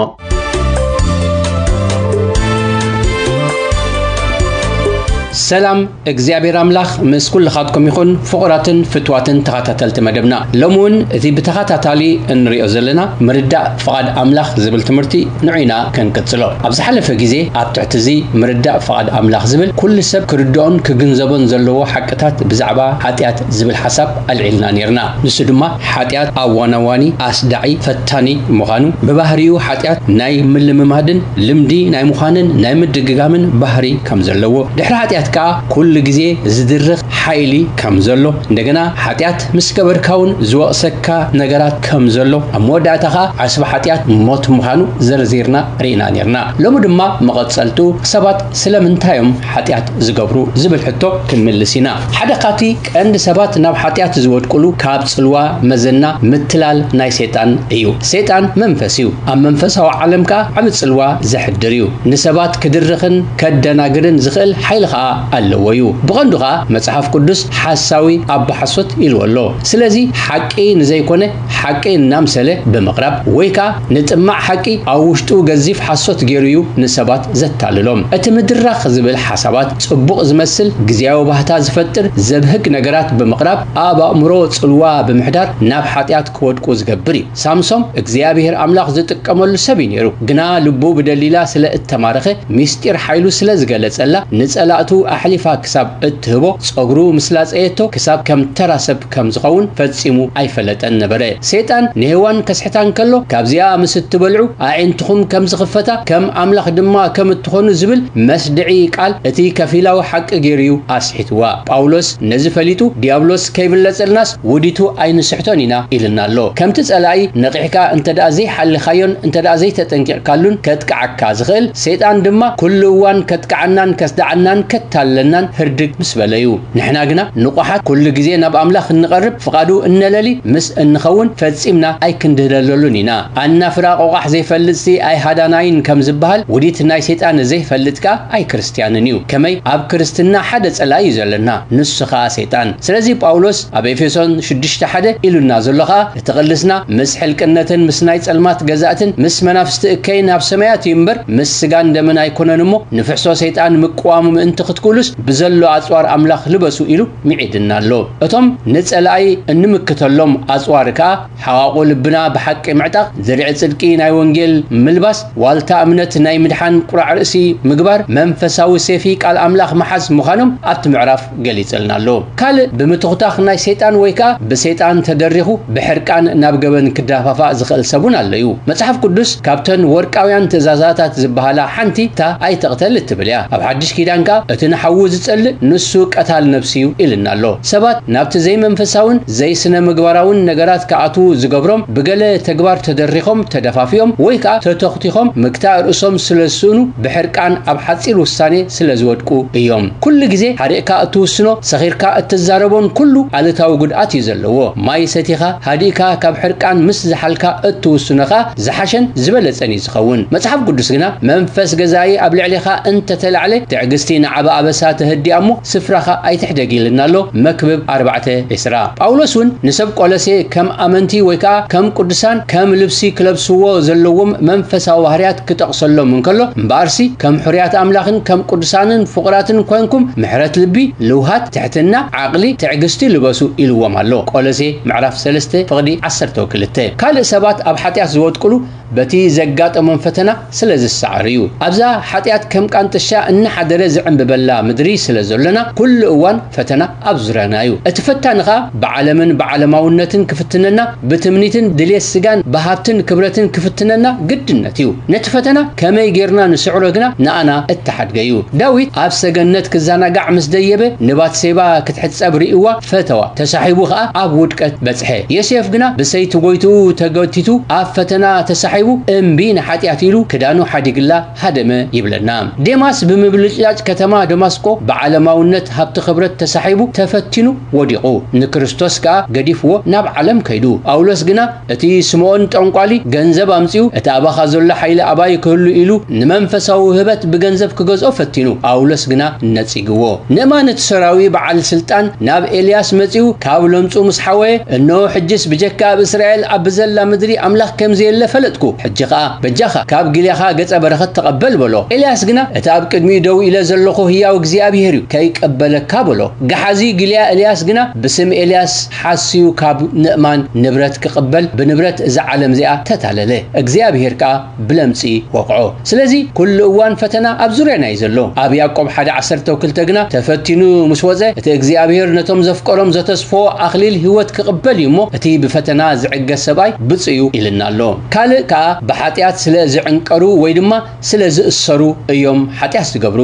ሰላም እግዚኣብሔር ኣምላኽ ምስ ኩልኻትኩም ይኹን፣ ፍቑራትን ፍትዋትን ተኸታተልቲ መደብና። ሎሚ እውን እቲ ብተኸታታሊ እንሪኦ ዘለና ምርዳእ ፍቓድ ኣምላኽ ዝብል ትምህርቲ ንዑ ኢና ክንቅጽሎ። ኣብ ዝሓለፈ ግዜ ኣብ ትሕቲ እዚ ምርዳእ ፍቓድ ኣምላኽ ዝብል ኩሉ ሰብ ክርድኦን ክግንዘቦን ዘለዎ ሓቅታት ብዛዕባ ሓጢኣት ዝብል ሓሳብ ኣልዒልና ኔርና። ንሱ ድማ ሓጢኣት ኣዋናዋኒ፣ ኣስዳዒ፣ ፈታኒ ምዃኑ፣ ብባህሪኡ ሓጢኣት ናይ ምልምማድን ልምዲ ናይ ምዃንን ናይ ምድግጋምን ባህሪ ከም ዘለዎ፣ ድሕሪ ሓጢኣት ከኣ ኩሉ ግዜ ዝድርኽ ሓይሊ ከም ዘሎ፣ እንደገና ሓጢኣት ምስ ገበርካ እውን ዝወቕሰካ ነገራት ከም ዘሎ፣ ኣብ መወዳእታ ከኣ ዓስቢ ሓጢኣት ሞት ምዃኑ ዘርዚርና ርኢና ኔርና። ሎሚ ድማ መቐጸልቱ ሰባት ስለምንታይ እዮም ሓጢኣት ዝገብሩ ዝብል ሕቶ ክንምልስ ኢና። ሓደ ካብቲ ቀንዲ ሰባት ናብ ሓጢኣት ዝወድቁሉ ካብ ጽልዋ መዘና ምትላል ናይ ሰይጣን እዩ። ሰይጣን መንፈስ እዩ። ኣብ መንፈሳዊ ዓለም ከኣ ዓቢ ጽልዋ ዘሕድር እዩ። ንሰባት ክድርኽን ከደናግርን ዝኽእል ሓይሊ ከኣ ኣለዎ እዩ። ብቐንዱ ከኣ መጽሓፍ ቅዱስ ሓሳዊ ኣቦ ሓሶት ኢልዎ ኣሎ። ስለዚ ሓቂ ንዘይኮነ ሓቂ እናምሰለ ብምቕራብ ወይ ከኣ ንጥማዕ ሓቂ ኣብ ውሽጡ ገዚፍ ሓሶት ገይሩ እዩ ንሰባት ዘታልሎም። እቲ ምድራኽ ዝብል ሓሳባት ጽቡቕ ዝመስል ግዝያዊ ባህታ ዝፈጥር ዘብህግ ነገራት ብምቕራብ ኣብ ኣእምሮ ጽልዋ ብምሕዳር ናብ ሓጢኣት ክወድቁ ዝገብር እዩ። ሳምሶም እግዚኣብሔር ኣምላኽ ዝጥቀመሉ ሰብ እዩ ነይሩ። ግና ልቡ ብደሊላ ስለ እተማረኸ ምስጢር ሓይሉ ስለ ዝገለጸላ ንጸላእቱ ኣሕሊፋ ክሳብ እትህቦ ጸጉሩ ምስ ላጸየቶ ክሳብ ከም ተራ ሰብ ከም ዝኸውን ፈጺሙ ኣይፈለጠን ነበረ። ሰይጣን ንሄዋን ከስሕታ እንከሎ ካብዚኣ ምስ እትበልዑ ኣዒንትኹም ከም ዝኽፈታ ከም ኣምላኽ ድማ ከም እትኾኑ ዝብል መስድዒ ቃል እቲ ከፊላዊ ሓቂ ገይሩ እዩ ኣስሒትዋ። ጳውሎስ ነዚ ፈሊጡ ዲያብሎስ ከይብለጸልናስ ውዲቱ ኣይንስሕቶን ኢና ኢልና ኣሎ። ከምቲ ጸላኢ ነቒሕካ እንተ ደኣ ዘይሓሊኻዮን እንተ ደኣ ዘይተጠንቂቕካሉን ከጥቅዓካ ዝኽእል፣ ሰይጣን ድማ ኩሉ እዋን ከጥቅዓናን ከስድዓናን ከታልለናን ህርድግ ምስ በለ እዩ። ንሕና ግና ንቑሓት ኩሉ ግዜ ናብ ኣምላኽ እንቐርብ ፍቓዱ እነለሊ ምስ እንኸውን ፈጺምና ኣይክንድህለለሉን ኢና። ኣናፍራ ቆቋሕ ዘይፈልጥሲ ኣይሃዳናይን ከም ዝበሃል ውዲት ናይ ሰይጣን ዘይፈልጥ ከኣ ኣይክርስትያንን እዩ። ከመይ ኣብ ክርስትና ሓደ ጸላኢ እዩ ዘለና፣ ንሱ ኸኣ ሰይጣን። ስለዚ ጳውሎስ ኣብ ኤፌሶን ሽዱሽተ ሓደ ኢሉና ዘሎ ኸኣ እቲ ቅልስና ምስ ሕልቅነትን ምስ ናይ ጸልማት ገዛእትን ምስ መናፍስቲ እከይን ኣብ ሰማያት እዩ እምበር ምስ ስጋን ደምን ኣይኮነን እሞ ንፍሕሶ ሰይጣን ምቅዋሙ ምእንቲ ክትክእሉስ ብዘሎ ኣጽዋር ኣምላኽ ልበሱ ኢሉ ሚዒድና ኣሎ። እቶም ንጸላኢ እንምክተሎም ኣጽዋር ከኣ ሓቓቑ ልብና ብሓቂ ምዕጣቕ፣ ድርዒ ጽድቂ ናይ ወንጌል ምልባስ፣ ዋልታ እምነት ናይ ምድሓን ቁራዕ ርእሲ ምግባር፣ መንፈሳዊ ሴፊ ቃል ኣምላኽ ምሓዝ ምዃኖም ኣብቲ ምዕራፍ ገሊጸልና ኣሎ። ካልእ ብምትኹታኽ ናይ ሰይጣን ወይ ከኣ ብሰይጣን ተደሪኹ ብሕርቃን ናብ ገበን ክዳፋፋእ ዝኽእል ሰብ እውን ኣሎ እዩ። መጽሓፍ ቅዱስ ካብተን ወርቃውያን ትእዛዛታት ዝበሃላ ሓንቲ እታ ኣይትቕተል እትብል እያ። ኣብ ሓድሽ ኪዳን ከኣ እቲ ንሓዉ ዝጸልእ ንሱ ቀታል ነፍሲ እዩ ኢልና ኣሎ። ሰባት ናብቲ ዘይመንፈሳውን ዘይስነ ምግባራውን ነገራት ክኣትዉ ዝገብሮም ብገለ ተግባር ተደሪኾም ተደፋፊኦም ወይ ከኣ ተተኹቲኾም ምግታእ ርእሶም ስለ ዝስእኑ ብሕርቃን ኣብ ሓጺር ውሳኔ ስለ ዝወድቁ እዮም። ኩሉ ግዜ ሓሪቕካ እትውስኖ ሰኺርካ እትዛረቦን ኩሉ ኣሉታዊ ጉድኣት እዩ ዘለዎ። ማይ ሰቲኻ ሃዲእካ ካብ ሕርቃን ምስ ዝሓልካ እትውስኖ ከኣ ዝሓሸን ዝበለጸን እዩ ዝኸውን። መጽሓፍ ቅዱስ ግና መንፈስ ገዛኢ ኣብ ልዕሌኻ እንተተላዕለ ትዕግስቲ ንዓቢ ኣበሳ ተህዲኣ እሞ ስፍራኻ ኣይትሕደግ ኢልና ኣሎ። መክብብ ኣርባዕተ ዕስራ። ጳውሎስ እውን ንሰብ ቆሎሴ ከም ኣመንቲ ወይ ከኣ ከም ቅዱሳን ከም ልብሲ ክለብስዎ ዘለዎም መንፈሳዊ ባህርያት ክጠቕሰሎም እንከሎ እምበኣርሲ ከም ሕሩያት ኣምላኽን ከም ቅዱሳንን ፍቑራትን ኮንኩም ምሕረት ልቢ፣ ልውሃት፣ ትሕትና፣ ዓቕሊ፣ ትዕግስቲ ልበሱ ኢልዎም ኣሎ። ቆሎሴ ምዕራፍ ሰለስተ ፍቕዲ ዓሰርተ ክልተ። ካልእ ሰባት ኣብ ሓጢኣት ዝወድቅሉ በቲ ዘጋጠሞም ፈተና ስለ ዝሰዓሩ እዩ። ኣብዛ ሓጢኣት ከም ቃንጥሻ እናሓደረ ዝዕምብበላ ምድሪ ስለ ዘሎና ኩሉ እዋን ፈተና ኣብ ዙርያና እዩ። እቲ ፈታኒ ኸኣ ብዓለምን ብዓለማውነትን ክፍትነና፣ ብትምኒትን ድልየት ስጋን ብሃብትን ክብረትን ክፍትነና ግድነት እዩ። ነቲ ፈተና ከመይ ጌርና ንስዕሮ ግና ንኣና እተሓድገ እዩ። ዳዊት ኣብ ሰገነት ክዘናጋዕ ምስ ደየበ ንባትሴባ ክትሕጸብ ርእይዋ ፈተዋ። ተሳሒቡ ኸኣ ኣብ ውድቀት በጽሐ። ዮሴፍ ግና ብሰይቲ ጎይትኡ ተገቲቱ ኣብ ፈተና ተሳሒቡ እምቢ ንሓጢኣት ኢሉ ክዳኑ ሓዲግላ ሃደመ ይብለና። ዴማስ ብምብልጭላጭ ከተማ ዶማ ደማስቆ ብዓለማውነት ሃብቲ ክብረት ተሳሒቡ ተፈቲኑ ወዲቑ። ንክርስቶስ ከኣ ገዲፍዎ ናብ ዓለም ከይዱ። ጳውሎስ ግና እቲ ስምዖን ጠንቋሊ ገንዘብ ኣምጺኡ፣ እቲ ኣባኻ ዘሎ ሓይሊ ኣባይ ክህሉ ኢሉ ንመንፈሳዊ ውህበት ብገንዘብ ክገዝኦ ፈቲኑ። ጳውሎስ ግና ነጺግዎ። ንእማን እቲ ሶርያዊ በዓል ስልጣን ናብ ኤልያስ መጺኡ፣ ካብ ለምጹ ምስ ሓወየ፣ "እንሆ ሕጅስ ብጀካ ኣብ እስራኤል ኣብ ብዘላ ምድሪ ኣምላኽ ከም ዘየለ ፈለጥኩ። ሕጂ ኸኣ በጃኻ ካብ ጊልያኻ ገጸ በረኸት ተቐበል" በሎ። ኤልያስ ግና፣ "እቲ ኣብ ቅድሚኡ ደው ኢለ ዘለኹ ህያው እግዚኣብሄር እዩ፣ ከይቀበለካ" በሎ። ገሓዚ ጊልያ ኤልያስ ግና ብስም ኤልያስ ሓስዩ ካብ ንእማን ንብረት ክቕበል ብንብረት እዛ ዓለም እዚኣ ተታለለ። እግዚኣብሄር ከኣ ብለምጺ ወቕዖ። ስለዚ ኩሉ እዋን ፈተና ኣብ ዙርያና እዩ ዘሎ። ኣብ ያዕቆብ ሓደ ዓሰርተ ክልተ ግና፣ "ተፈቲኑ ምስ ወጸ፣ እቲ እግዚኣብሄር ነቶም ዘፍቀሮም ዘተስፎ ኣኽሊል ህይወት ክቕበል እዩ እሞ፣ እቲ ብፈተና ዝዕገስ ሰብኣይ ብፁዕ እዩ" ኢልና ኣሎ። ካልእ ከኣ ብሓጢኣት ስለ ዝዕንቀሩ ወይ ድማ ስለ ዝእሰሩ እዮም ሓጢኣት ዝገብሩ።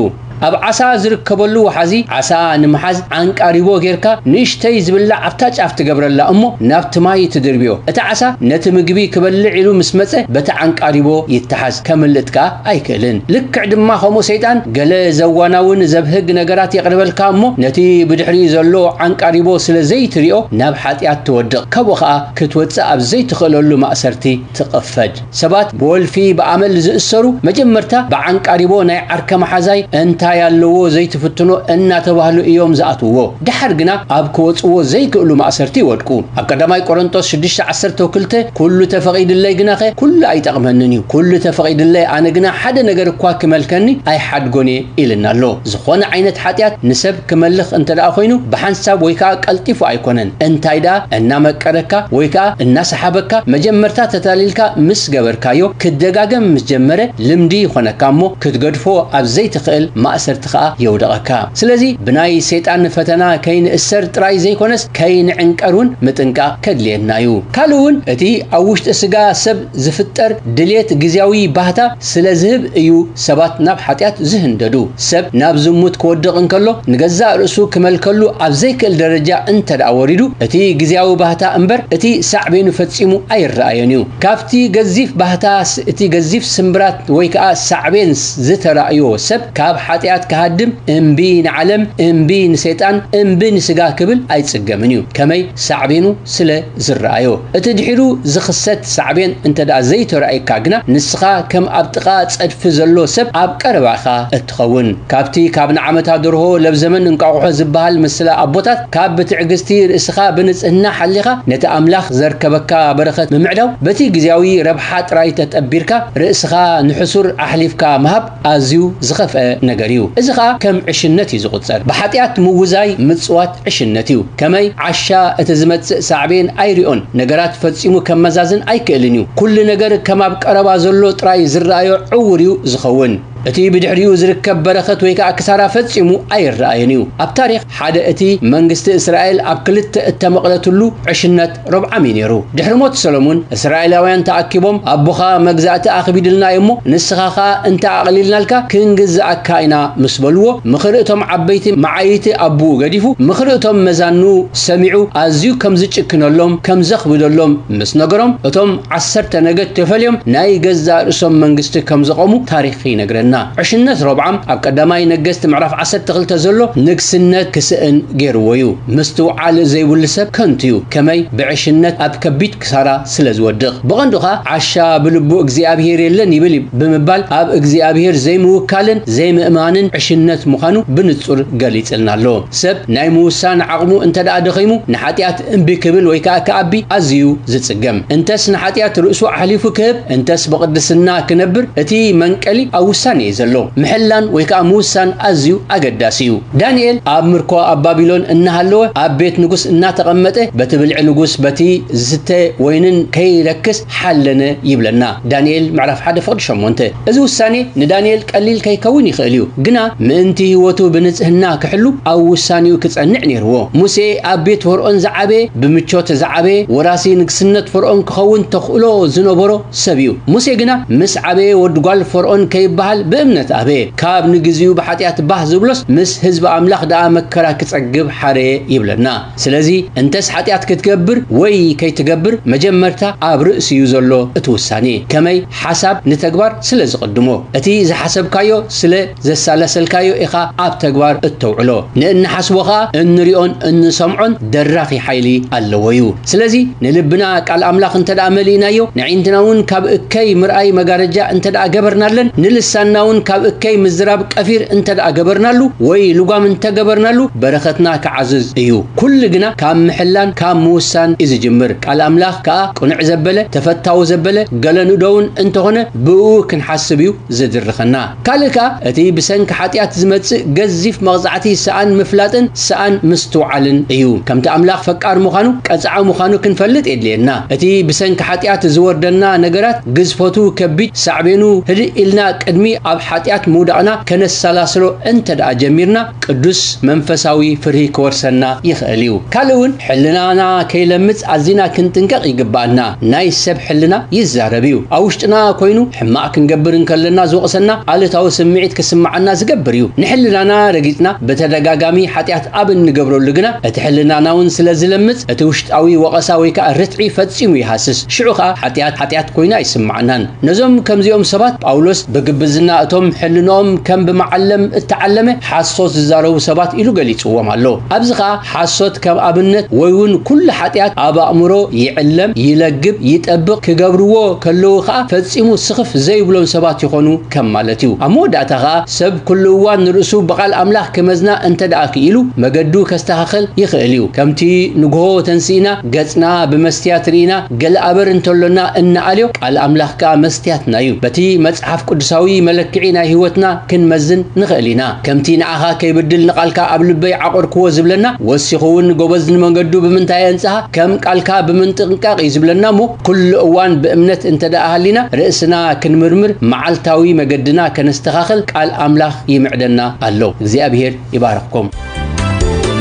ኣብ ዓሳ ዝርከበሉ ወሓዚ፣ ዓሳ ንምሓዝ ዓንቃሪቦ ጌርካ ንእሽተይ ዝብላዕ ኣብታ ጫፍ ትገብረላ እሞ ናብቲ ማይ ትድርብዮ። እቲ ዓሳ ነቲ ምግቢ ክበልዕ ኢሉ ምስ መጸ በቲ ዓንቃሪቦ ይተሓዝ፣ ከምልጥ ከኣ ኣይክእልን። ልክዕ ድማ ከምኡ ሰይጣን ገለ ዘዋናውን ዘብህግ ነገራት የቕርበልካ እሞ ነቲ ብድሕሪኡ ዘሎ ዓንቃሪቦ ስለ ዘይትሪኦ ናብ ሓጢኣት ትወድቕ፣ ካብኡ ኸኣ ክትወጽእ ኣብ ዘይትኽእለሉ ማእሰርቲ ትቕፈድ። ሰባት ብወልፊ ብኣመል ዝእሰሩ መጀመርታ ብዓንቃሪቦ ናይ ዓርከ መሓዛይ እንታይ ኣለዎ ዘይትፍትኖ እናተባህሉ እዮም ዝኣትውዎ። ደሓር ግና ኣብ ክወጽዎ ዘይክእሉ ማእሰርቲ ይወድቁ። ኣብ ቀዳማይ ቆሮንቶስ ሽዱሽተ ዓሰርተ ክልተ፣ "ኩሉ ተፈቒድለይ ግናኸ ኩሉ ኣይጠቕመንን እዩ። ኩሉ ተፈቒድለይ ኣነ ግና ሓደ ነገር እኳ ክመልከኒ ኣይሓድጎን እየ" ኢልና ኣሎ። ዝኾነ ዓይነት ሓጢኣት ንሰብ ክመልኽ እንተ ደኣ ኮይኑ ብሓንሳብ ወይ ከኣ ቀልጢፉ ኣይኮነን። እንታይ ደኣ እናመቀረካ ወይ ከኣ እናሰሓበካ መጀመርታ ተታሊልካ ምስ ገበርካዮ ክደጋገም ምስ ጀመረ ልምዲ ይኾነካ እሞ ክትገድፎ ኣብ ዘይትኽእል ማእሰርቲ ከኣ የውደቐካ። ስለዚ ብናይ ሰይጣን ፈተና ከይንእሰር ጥራይ ዘይኮነስ ከይንዕንቀር እውን ምጥንቃቕ ከድልየና እዩ። ካልእ እውን እቲ ኣብ ውሽጢ ስጋ ሰብ ዝፍጠር ድሌት ግዝያዊ ባህታ ስለ ዝህብ እዩ ሰባት ናብ ሓጢኣት ዝህንደዱ። ሰብ ናብ ዝሙት ክወድቕ እንከሎ ንገዛእ ርእሱ ክመልከሉ ኣብ ዘይክእል ደረጃ እንተ ደኣ ወሪዱ፣ እቲ ግዝያዊ ባህታ እምበር እቲ ሳዕቤኑ ፈጺሙ ኣይረኣዮን እዩ። ካብቲ ገዚፍ ባህታ ስ-፣ እቲ ገዚፍ ስምብራት ወይ ከኣ ሳዕቤን ስ-፣ ዝተራእዮ ሰብ ካብ ሓጢኣት ክሃድም እምቢ ንዓለም፣ እምቢ ንሰይጣን፣ እምቢ ንስጋ ክብል ኣይጽገምን እዩ። ከመይ ሳዕቤኑ ስለ ዝረኣዮ። እቲ ድሒሩ ዝኽሰት ሳዕቤን እንተ ደኣ ዘይተራእየካ ግና ንስኻ ከም ኣብ ጥቓ ጸድፊ ዘሎ ሰብ ኣብ ቀረባ ኢኻ እትኸውን። ካብቲ ካብ ንዓመታ ደርሆ ለብ ዘመን እንቋቑሖ ዝበሃል ምስላ ኣቦታት ካብ ብትዕግስቲ ርእስኻ ብንጽህና ሓሊኻ ነቲ ኣምላኽ ዘርከበካ በረኸት ምምዕዳው በቲ ግዝያዊ ረብሓ ጥራይ ተጠቢርካ ርእስኻ ንሕሱር ኣሕሊፍካ ምሃብ ኣዝዩ ዝኸፍአ ነገር እዩ። እዚ ኸኣ ከም ዕሽነት እዩ ዝቑጸር። ብሓጢኣት ምውዛይ ምጽዋት ዕሽነት እዩ። ከመይ ዓሻ እቲ ዝመጽእ ሳዕቤን ኣይሪኦን፣ ነገራት ፈጺሙ ከመዛዝን ኣይክእልን እዩ። ኩሉ ነገር ከም ኣብ ቀረባ ዘሎ ጥራይ ዝረኣዮ ዕዉር እዩ ዝኸውን። እቲ ብድሕሪኡ ዝርከብ በረኸት ወይ ከኣ ክሳራ ፈጺሙ ኣይረኣዮን እዩ። ኣብ ታሪኽ ሓደ እቲ መንግስቲ እስራኤል ኣብ ክልተ እተመቕለትሉ ዕሽነት ሮብዓም እዩ ነይሩ። ድሕሪ ሞት ሰሎሙን እስራኤላውያን ተኣኪቦም፣ "ኣቦኻ መግዛእቲ ኣኽቢድልና እዩ እሞ ንስኻ ኸኣ እንተ ኣቕሊልናልካ ክንግዝኣካ ኢና" ምስ በልዎ፣ ምኽሪ እቶም ዓበይቲ መዓይቲ ኣቦኡ ገዲፉ፣ ምኽሪ እቶም መዛኑ ሰሚዑ፣ ኣዝዩ ከም ዝጭክነሎም፣ ከም ዘኽብደሎም ምስ ነገሮም፣ እቶም ዓሰርተ ነገድ ተፈልዮም ናይ ገዛእ ርእሶም መንግስቲ ከም ዘቖሙ ታሪኽ ይነግረና። ዕሽነት ሮብዓም ኣብ ቀዳማይ ነገስት ምዕራፍ ዓሰርተ ክልተ ዘሎ ንግስነት ክስእን ገይርዎ እዩ። ምስትውዓል ዘይብሉ ሰብ ከንቱ እዩ። ከመይ? ብዕሽነት ኣብ ከቢድ ክሳራ ስለ ዝወድቕ። ብቐንዱ ኸኣ ዓሻ ብልቡ እግዚኣብሄር የለን ይብል እዩ ብምባል ኣብ እግዚኣብሄር ዘይምውካልን ዘይምእማንን ዕሽነት ምዃኑ ብንጹር ገሊጽልና ኣሎ። ሰብ ናይ ምውሳን ዓቕሙ እንተ ደኣ ደኺሙ ንሓጢኣት እምቢ ክብል ወይ ከኣ ክኣቢ ኣዝዩ ዝጽገም። እንተስ ንሓጢኣት ርእሱ ኣሕሊፉ ክህብ፣ እንተስ ብቕድስና ክነብር፣ እቲ መንቀሊ ኣብ ውሳኔ እዩ ዘሎ። ምሕላን ወይ ከኣ ምውሳን ኣዝዩ ኣገዳሲ እዩ። ዳንኤል ኣብ ምርኮ ኣብ ባቢሎን እናሃለወ፣ ኣብ ቤት ንጉስ እናተቐመጠ፣ በቲ ብልዒ ንጉስ፣ በቲ ዝስተ ወይንን ከይረክስ ሓለነ ይብለና። ዳንኤል ምዕራፍ ሓደ ፍቕዲ ሸሞንተ። እዚ ውሳኔ ንዳንኤል ቀሊል ከይከውን ይኽእል እዩ፣ ግና ምእንቲ ህይወቱ ብንጽህና ክሕሉ ኣብ ውሳኔኡ ክጸንዕ ነይርዎ። ሙሴ ኣብ ቤት ፈርኦን ዝዓበየ፣ ብምቾት ዝዓበየ፣ ወራሲ ንግስነት ፈርኦን ክኸውን ተኽእሎ ዝነበሮ ሰብ እዩ። ሙሴ ግና ምስ ዓበየ ወዲ ጓል ፈርኦን ከይበሃል ብእምነት ኣበየ፣ ካብ ንግዚኡ ብሓጢኣት ባህ ዝብሎስ ምስ ህዝቢ ኣምላኽ ደኣ መከራ ክጸግብ ሓረየ ይብለና። ስለዚ እንተስ ሓጢኣት ክትገብር ወይ ከይትገብር መጀመርታ ኣብ ርእሲ እዩ ዘሎ እቲ ውሳኔ። ከመይ ሓሳብ ንተግባር ስለ ዝቕድሞ፣ እቲ ዝሓሰብካዮ ስለ ዘሳለሰልካዮ ኢኻ ኣብ ተግባር እተውዕሎ። ንእንሓስቦ ኸኣ እንሪኦን እንሰምዖን ደራኺ ሓይሊ ኣለዎ እዩ። ስለዚ ንልብና ቃል ኣምላኽ እንተ ደኣ መሊእናዮ፣ ንዒንትና እውን ካብ እከይ ምርኣይ መጋረጃ እንተ ደኣ ገበርናለን፣ ንልሳንና እውን ካብ እከይ ምዝራብ ቀፊር እንተ ደኣ ገበርናሉ ወይ ልጓም እንተ ገበርናሉ፣ በረኸትና ክዓዝዝ እዩ። ኩሉ ግና ካብ ምሕላን ካብ ምውሳን እዩ ዝጅምር። ቃል ኣምላኽ ከኣ ቅኑዕ ዘበለ፣ ተፈታዊ ዘበለ፣ ገለ ንእዶ እውን እንተኾነ ብእኡ ክንሓስብ እዩ ዝድርኸና። ካልእ ከኣ እቲ ብሰንኪ ሓጢኣት ዝመጽእ ገዚፍ መቕጻዕቲ ሰኣን ምፍላጥን ሰኣን ምስትውዓልን እዩ። ከምቲ ኣምላኽ ፈቃር ምዃኑ፣ ቀጻዒ ምዃኑ ክንፈልጥ የድልየና። እቲ ብሰንኪ ሓጢኣት ዝወርደና ነገራት ግዝፈቱ ከቢድ፣ ሳዕቤኑ ህድእ ኢልና ቅድሚ ኣብ ሓጢኣት ምውዳቕና ከነሰላስሎ እንተ ደኣ ጀሚርና፣ ቅዱስ መንፈሳዊ ፍርሂ ክወርሰና ይኽእል እዩ። ካልእ እውን ሕልናና ከይለምጽ ኣዚና ክንጥንቀቕ ይግብኣና። ናይ ሰብ ሕልና ይዛረብ እዩ። ኣብ ውሽጥና ኮይኑ ሕማቕ ክንገብር እንከለና ዝወቕሰና፣ ኣሉታዊ ስምዒት ክስምዓና ዝገብር እዩ። ንሕልናና ረጊጽና ብተደጋጋሚ ሓጢኣት ኣብ እንገብረሉ ግና፣ እቲ ሕልናና እውን ስለ ዝለምጽ፣ እቲ ውሽጣዊ ወቐሳ ወይ ከኣ ርትዒ ፈጺሙ ይሃስስ። ሽዑ ከኣ ሓጢኣት ሓጢኣት ኮይና ኣይስምዓናን። ነዞም ከምዚኦም ሰባት ጳውሎስ ብግብዝና እቶም ሕልንኦም ከም ብመዓለም እተዓለመ ሓሶት ዝዛረቡ ሰባት ኢሉ ገሊጽዎም ኣሎ። ኣብዚ ኸኣ ሓሶት ከም ኣብነት ወይ እውን ኩሉ ሓጢኣት ኣብ ኣእምሮ ይዕለም፣ ይለግብ፣ ይጠብቕ፣ ክገብርዎ ከለዉ ኸኣ ፈጺሙ ስኽፍ ዘይብሎም ሰባት ይኾኑ ከም ማለት እዩ። ኣብ መወዳእታ ኸኣ ሰብ ኩሉ እዋን ንርእሱ ብቓል ኣምላኽ ክመዝና እንተ ደኣ ክኢሉ፣ መገዱ ከስተኻኽል ይኽእል እዩ። ከምቲ ንግሆ ተንሲእና ገጽና ብመስትያት ርኢና ገለ ኣበር እንተሎና እንኣልዮ፣ ቃል ኣምላኽ ከኣ መስትያትና እዩ። በቲ መጽሓፍ ቅዱሳዊ መለክዒ ናይ ህይወትና ክንመዝን ንኽእል ኢና። ከምቲ ንዓኻ ከይብድል ንቓልካ ኣብ ልበይ ዓቖርክዎ ዝብለና፣ ወሲኹ እውን ጎበዝ ንመንገዱ ብምንታይ የንጽሃ፣ ከም ቃልካ ብምንጥንቃቕ እዩ ዝብለና እሞ፣ ኩሉ እዋን ብእምነት እንተ ደኣ ሃሊና፣ ርእስና ክንምርምር፣ መዓልታዊ መገድና ከነስተኻኽል ቃል ኣምላኽ ይምዕደና ኣሎ። እግዚኣብሔር ይባርኽኩም።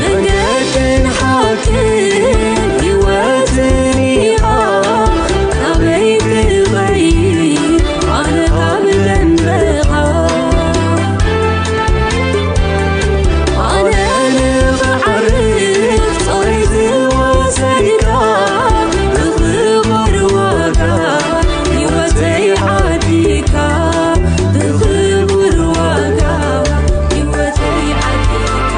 መንገድን ሓቅን ህይወትን ኢኻ፣ ካበይ ክበይ ኣነ ካብ ደንበኻ። ኣነ ንኽዓርፍ ጾረይ ዝወሰድካ፣ ብኽቡር ዋጋ ህይወተይ ዓዲካ፣ ብኽቡር ዋጋ ህይወተይ ዓዲካ።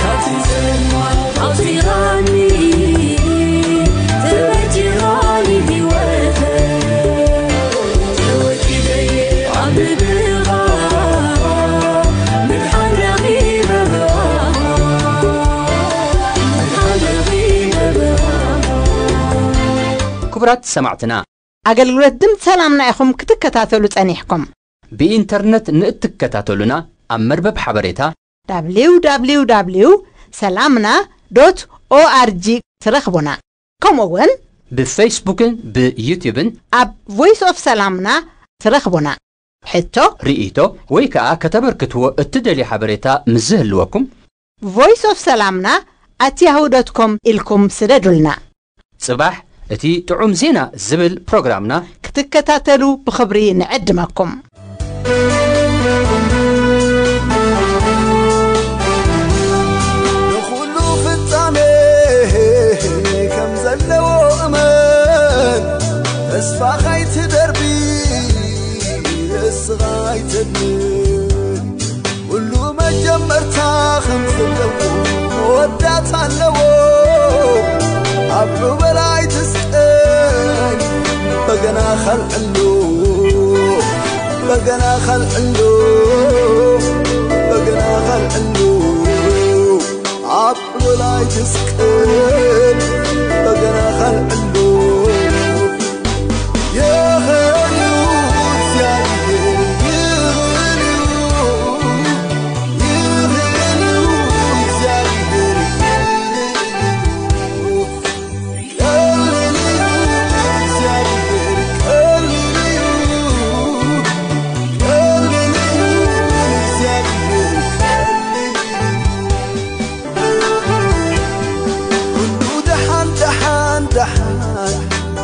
ካብቲ ጸልማት ኣውጺኻኒ፣ ተበጂኻኒ ህይወተይ። ተወዲደ'የ ኣብ ልብኻ፣ ምድሓን ረኺበ ብኣኻ፣ ምድሓን ረኺበ ብኣኻ። ክቡራት ሰማዕትና፣ ኣገልግሎት ድምፂ ሰላምና ኢኹም ክትከታተሉ ጸኒሕኩም። ብኢንተርነት ንእትከታተሉና ኣብ መርበብ ሓበሬታ ደብሊው ደብሊው ደብሊው ሰላምና ዶት ኦኣርጂ ትረኽቡና። ከምኡ እውን ብፌስቡክን ብዩቲዩብን ኣብ ቮይስ ኦፍ ሰላምና ትረኽቡና። ሕቶ፣ ርኢቶ ወይ ከዓ ከተበርክትዎ እትደልዩ ሓበሬታ ምስ ዝህልወኩም ቮይስ ኦፍ ሰላምና ኣት ያሁ ዶት ኮም ኢልኩም ስደዱልና። ጽባሕ እቲ ጥዑም ዜና ዝብል ፕሮግራምና ክትከታተሉ ብኽብሪ ንዕድመኩም። ንኹሉ ፍጻሜ ከም ዘለዎ እመን፣ ተስፋ ኸይትደርቢ ንስኻ ኣይተድምን። ኩሉ መጀመርታ ከም ዘለዎ መወዳእታ ኣለዎ። ኣብ ዑበል ኣይትስቀል፣ በገና ኸልዕሉ፣ በገና ኸልዕሉ፣ በገና ኸልዕሉ። ኣብ ዑበል ኣይትስቀል፣ በገና ኸልዕሉ። ይኽእል እዩ እግዚኣብሔር፣ ይኽእል እዩ፣ ይኽእል እዩ እግዚኣብሔር፣ ይኽእል እዩ፣ ይኽእል እዩ እግዚኣብሔር፣ ቀሊል እዩ፣ ቀሊል እዩ እግዚኣብሔር፣ ቀሊል እዩ። ኩሉ ደሓን፣ ደሓን፣ ደሓን፣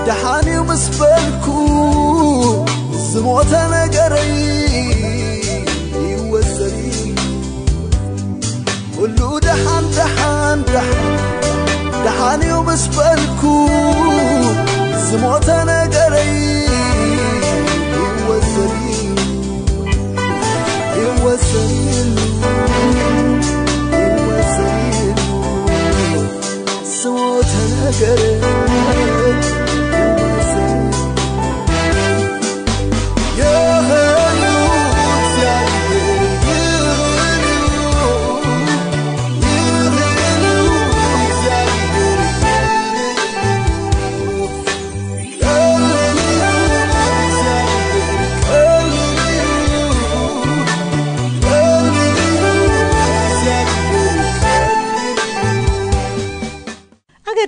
ደሓን እዩ ምስ በልኩ፣ ዝሞተ ነገረይ ደሓን ደሓን ደሓን ደሓን እዩ ምስ በልኩ ዝሞተ ነገረይ ይወሰድ ይወሰድ ይወሰድ ዝሞተ ነገረይ ይወሰድ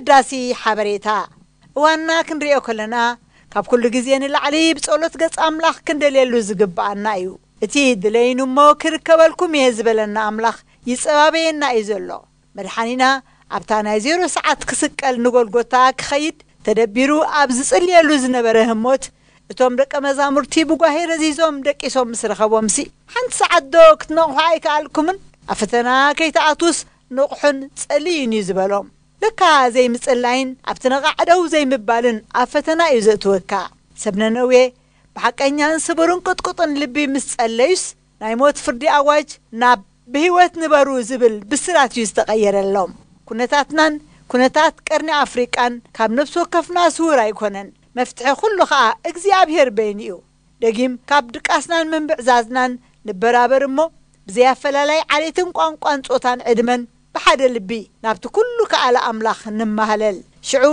ኣገዳሲ ሓበሬታ። እዋንና ክንሪኦ ከለና፣ ካብ ኩሉ ግዜ ንላዕሊ ብጸሎት ገጽ ኣምላኽ ክንደልየሉ ዝግብኣና እዩ። እቲ ድለይኑ እሞ ክርከበልኩም እየ ዝበለና ኣምላኽ ይጸባበየና እዩ ዘሎ። መድሓኒና ኣብታ ናይ ዜሮ ሰዓት ክስቀል ንጎልጎታ ክኸይድ ተደቢሩ ኣብ ዝጽልየሉ ዝነበረ ህሞት፣ እቶም ደቀ መዛሙርቲ ብጓሄ ረዚዞም ደቂሶም ምስ ረኸቦምሲ፣ ሓንቲ ሰዓት ዶ ክትነቕሑ ኣይከኣልኩምን? ኣብ ፈተና ከይትኣትዉስ ንቕሑን ጸልዩን እዩ ዝበሎም። ለካ ዘይምጽላይን ኣብቲ ነቓዕ ደው ዘይምባልን ኣብ ፈተና እዩ ዘእትወካ። ሰብ ነነዌ ብሓቀኛን ስቡርን ቅጥቁጥን ልቢ ምስ ጸለዩስ፣ ናይ ሞት ፍርዲ ኣዋጅ ናብ ብህይወት ንበሩ ዝብል ብስራት እዩ ዝተቐየረሎም። ኩነታትናን ኩነታት ቀርኒ ኣፍሪቃን ካብ ነፍሲ ወከፍና ስውር ኣይኮነን። መፍትሒ ኩሉ ኸኣ እግዚኣብሔር በይኑ እዩ። ደጊም ካብ ድቃስናን ምንብዕዛዝናን ንበራበር እሞ፣ ብዘይ ኣፈላላይ ዓሌትን ቋንቋን ጾታን ዕድመን ብሓደ ልቢ ናብቲ ኩሉ ከኣለ ኣምላኽ ንማህለል። ሽዑ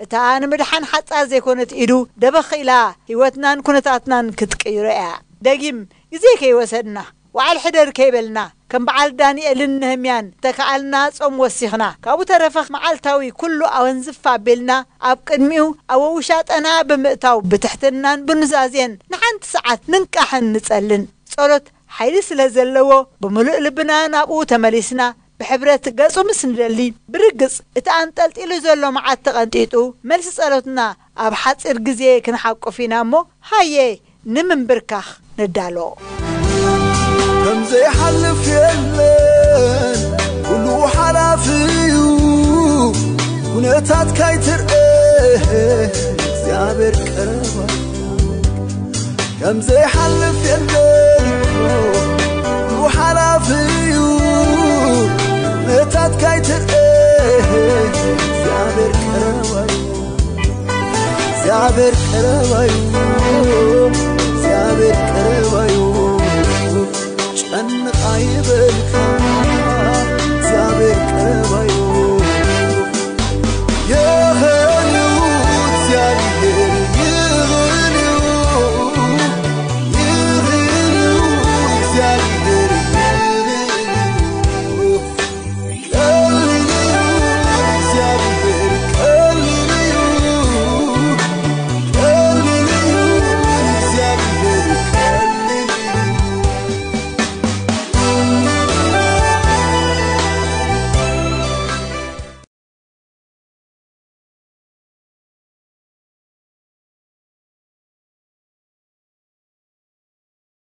እታ ንምድሓን ሓጻር ዘይኮነት ኢዱ ደበኽ ኢላ ህይወትናን ኩነታትናን ክትቅይሮ እያ። ደጊም ግዜ ከይወሰድና፣ ወዓል ሕደር ከይበልና፣ ከም በዓል ዳንኤልን ነህምያን እንተከኣልና ጾም ወሲኽና፣ ካብኡ ተረፈ መዓልታዊ ኩሉ ኣወንዝፍ ኣቢልና ኣብ ቅድሚኡ ኣብ ውሻጠና ብምእታው ብትሕትናን ብኑዛዜን ንሓንቲ ሰዓት ንንቃሕን ንጸልን። ጸሎት ሓይሊ ስለ ዘለዎ ብምሉእ ልብና ናብኡ ተመሊስና ብሕብረት ገጹ ምስ ንደሊ፣ ብርግጽ እቲ ኣንጠልጢሉ ዘሎ መዓት ተቐንጢጡ፣ መልሲ ጸሎትና ኣብ ሓጺር ግዜ ክንሓቁፍ ኢና እሞ፣ ሃየ ንምንብርካኽ ንዳሎ። ከም ዘይሓልፍ የለን ኩሉ ሓላፊ እዩ ኩነታት ካይትርእ እግዚኣብሔር ቀረባ ከም ዘይሓልፍ የለን ኩሉ ሓላፊ እዩ ኩነታት ካይትርእ እግዚኣብሔር ቀረባ እዩ እግዚኣብሔር ቀረባ እዩ እግዚኣብሔር ቀረባ እዩ ጨንቕ ኣይበልካ እግዚኣብሔር ቀረባ እዩ